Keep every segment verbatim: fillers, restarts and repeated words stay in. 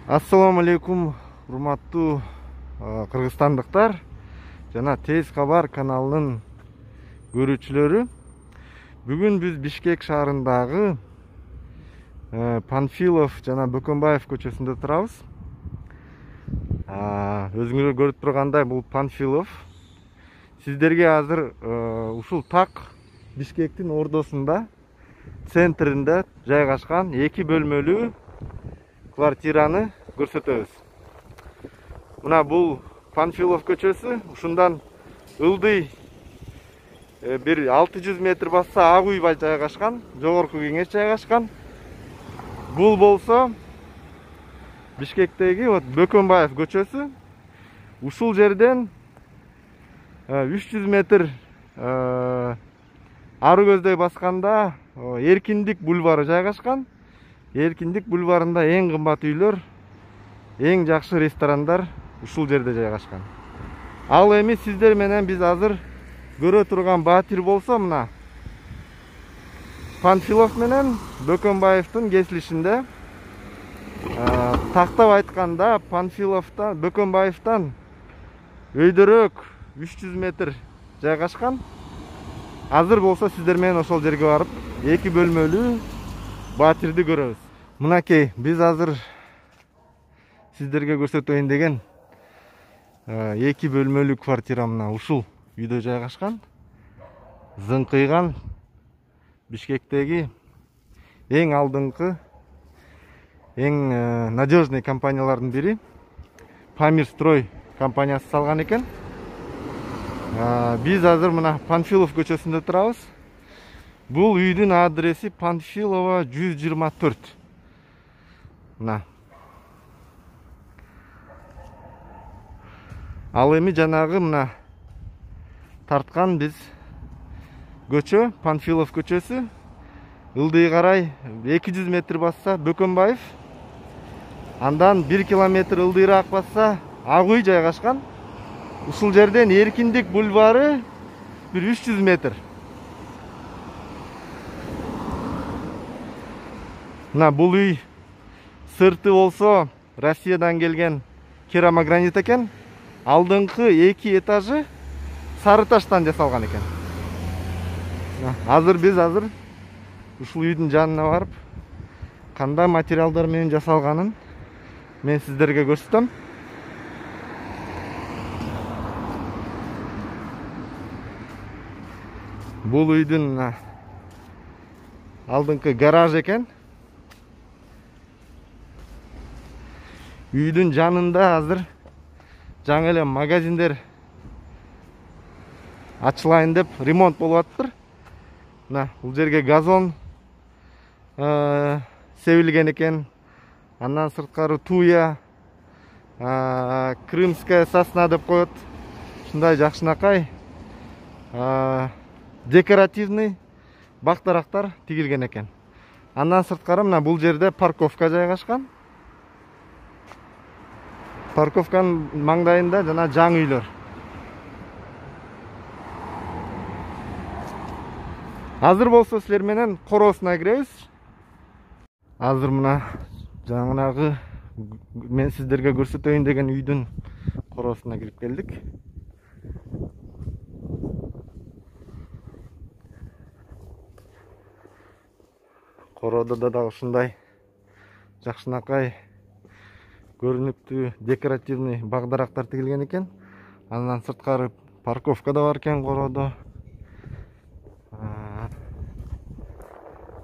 Ассаламу алейкум, урматтуу кыргызстандыктар жана Тез кабар каналынын көрүүчүлөрү. Бүгүн биз Бишкек шаарындагы Панфилов жана Бөкөнбаев көчөсүндө турабыз. Өзүңүздөр көрүп тургандай, бул Панфилов. Сиздерге азыр ушул так Бишкектин ордосунда, центринде жайгашкан эки бөлмөлүү квартираны көрсөтөбүз. Мына бул Панфилов көчөсү, ушундан ылдый бир алты жүз метр басса Ак Уйба жайгашкан, Жогорку Кеңеш жайгашкан. Бул болсо Бишкектеги вот Бөкөнбаев көчөсү. Ушул жерден үч жүз метр ары көздөй басканда Эркиндик бульвары жайгашкан. Эркиндик бульварында эң кымбат үйлөр, эң жакшы ресторандар ушул жерде жайгашкан. Ал эми сиздер менен биз азыр көрө турган батир болсо, мына Панфилов менен Бөкөнбаевдин кесилишинде. Тактап айтканда Панфиловдон, Бөкөнбаевден өйдөрөөк үч жүз метр жайгашкан. Азыр болсо сиздер менен ошол жерге барып эки бөлмөлүү батирди көрөбүз. Мынакей, биз азыр сиздерге көрсөтөйүн деген эки бөлмөлүү квартира мына ушул үйдө жайгашкан. Зыңкыйган Бишкектеги эң алдыңкы, эң надежный компаниялардын бири Памир строй компаниясы салган экен. Биз азыр мына Панфилов көчөсүндө турабыз. Бул үйдүн адреси Панфилова жүз жыйырма төрт. Мына. Ал эми жанагы мына тарткан биз көчө, Панфилов көчөсү. Ылдый карай эки жүз метр басса Бөкөнбаев. Андан бир километр ылдыйраак басса Ак Уй жайгашкан. Ушул жерден Эркиндик бульвары бир үч жүз метр. Мына бул үй сырты болсо Россиядан келген керамогранит экен. Алдыңкы эки этажы сары таштан жасалган экен. Азыр биз азыр ушул үйдүн жанына барып, кандай материалдар менен жасалганын мен сиздерге көрсөтөм. Бул үйдүн алдыңкы гараж экен. Үйдүн жанында азыр жаңы эле магазиндер ачылайын деп ремонт болуп атыптыр. Мына бул жерге газон себилген экен. Андан сырткары туя, крымская сосна деп коет. Ушундай жакшынакай декоративный бактарактар тигилген экен. Андан сырткары мына бул жерде парковка жайгашкан. Парковканын маңдайында жана жаңы үйлөр. Азыр болсо силер менен короосуна киребиз. Азыр мына жаңынагы мен сиздерге көрсөтөйүн деген үйдүн короосуна кирип келдик. Короодо да дагы ушундай жакшынакай көрүнүктүү декоративный багдарактар тигилген экен. Андан сырткары парковка да бар экен короодо.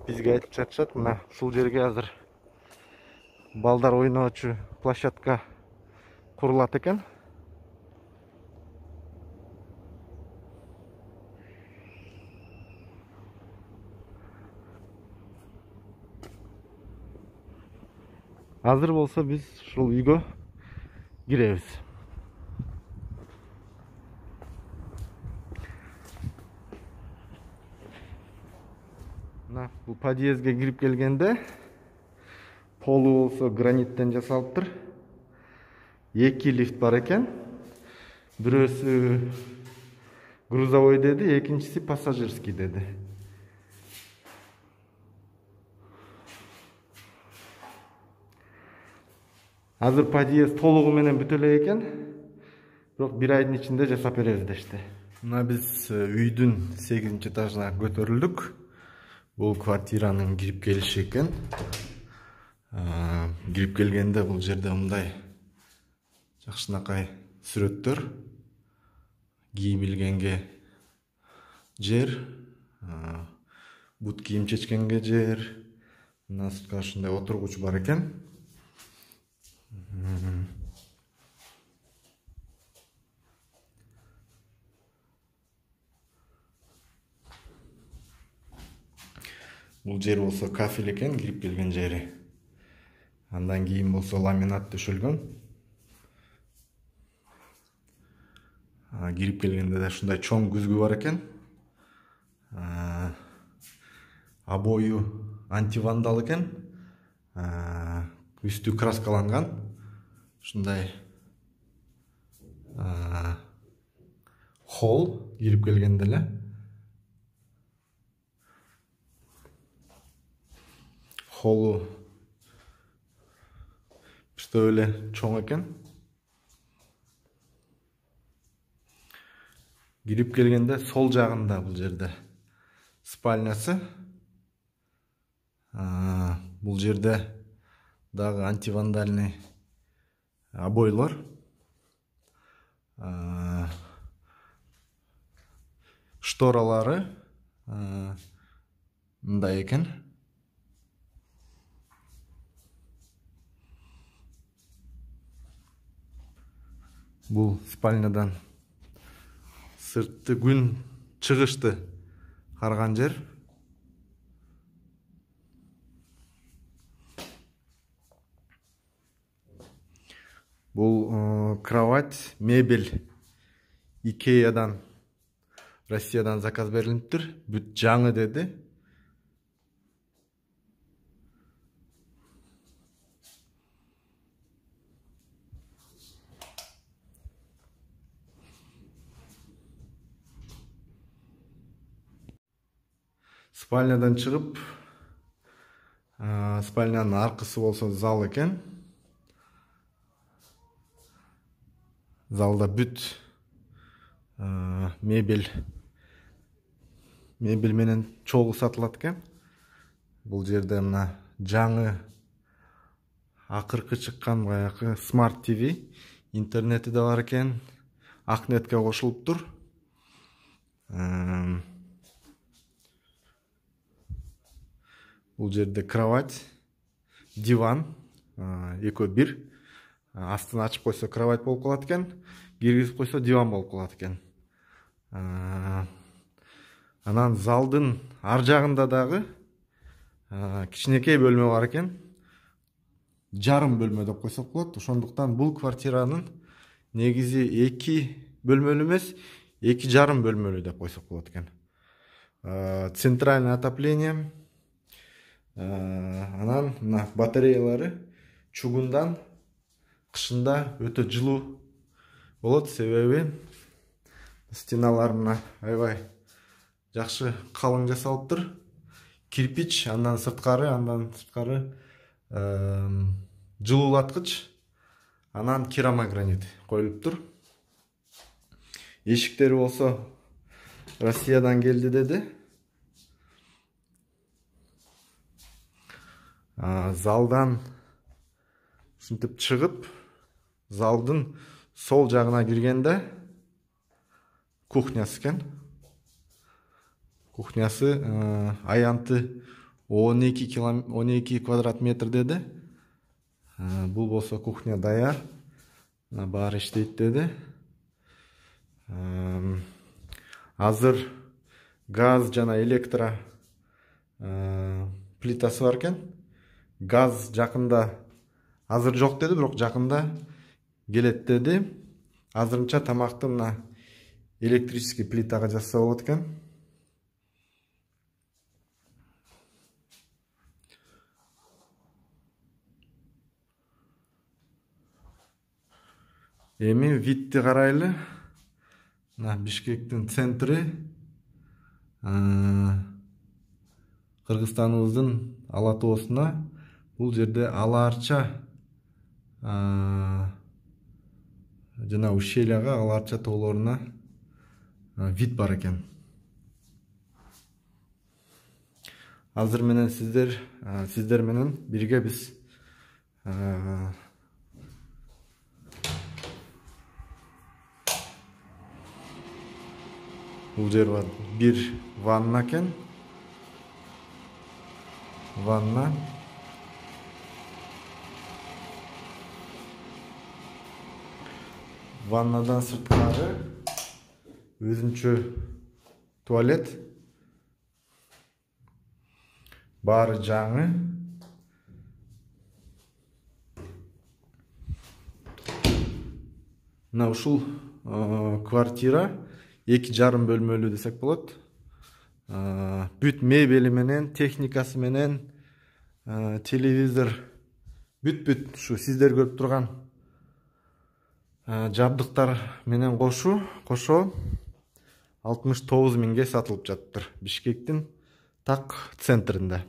Бизге айтып жатышат, мына ушул жерге азыр балдар ойноочу площадка курулат экен. Азыр болсо биз ушул үйгө киребиз. Мына бул подъездге кирип келгенде полу болсо граниттен жасалыптыр. Эки лифт бар экен. Бирөөсү грузовой деди, экинчиси пассажирский деди. Азыр подъезд толугу менен бүтө элек экен. Бирок бир айдын ичинде жасап беребиз дешти. Мына биз үйдүн сегизинчи этажына көтөрүлдүк. Бул квартиранын кирип келиши экен. Кирип келгенде бул жерде мындай жакшынакай сүрөттөр. Кийим илгенге жер, бут кийим чечкенге жер. Мына сыртка ушундай отургуч бар экен. Бул жер болсо кафель экен, кирип келген жери. Андан кийин болсо ламинат төшөлгөн. Кирип келгенде да ушундай чоң күзгү бар экен. Обою антивандал экен. Үстү краскаланган. Ушундай холл кирип келгенде эле. Холлу биртөө эле чоң экен. Кирип келгенде сол жагында бул жерде спальнясы. Бул жерде дагы антивандальный обойлор. Шторалары мындай экен. Бул спальнядан сыртты күн чыгышты карган жер. Бул кровать, мебель Икеядан, Россиядан заказ берилиптир. Бүт жаңы деди. Спальнядан чыгып, спальнянын аркысы болсо зал экен. Залда бүт мебель мебель менен чогуу сатылат экен. Бул жерде мына жаңы акыркы чыккан баягы смарт ТВ, интернети да бар экен. Акнетке кошулуптур. Бул жерде кровать, диван, экөө бир. Астын ачып койсо кровать болуп калат экен, киргизип койсо диван болуп калат экен. Анан залдын ар жагында дагы кичинекей бөлмө бар экен. Жарым бөлмө деп койсок болот. Ошондуктан бул квартиранын негизи эки бөлмөлүү эмес, эки жарым бөлмөлүү деп койсок болот экен. Центральное отопление. Анан мына батареялары чугундан, кышында өтө жылуу болот, себеби стеналар мына аябай жакшы калың жасалыптыр. Кирпич, андан сырткары, андан сырткары жылуулаткыч, анан керамогранит коюлуптур. Эшиктери болсо Россиядан келди деди. Залдан ушинтип чыгып, залдын сол жагына киргенде кухнясы экен. Кухнясы аянты он эки квадрат метр деди. Бул болсо кухня даяр. Баары иштейт деди. Азыр газ жана электро плитасы бар экен. Газ жакында азыр жок деди, бирок жакында келет деди. Азырынча тамакты мына электрический плитага жасаса болот экен. Эми видти карайлы. Мына Бишкектин центри. Кыргызстаныбыздын ала тоосуна бул жерде ала арча жана ущельяга, аларча тоолоруна вид бар экен. Азыр менен сиздер сиздер менен бирге биз бул жер бар. Бир ванна экен. Ванна. Ваннадан сырткары өзүнчө туалет. Баары жаңы. Мына ушул квартира эки жарым бөлмөлүү десек болот. Бүт мебели менен, техникасы менен, телевизор, бүт-бүт ушу сиздер көрүп турган жабдыктар менен кошу кошо алтымыш тогуз миңге сатылып жатыптыр Бишкектин так центринде.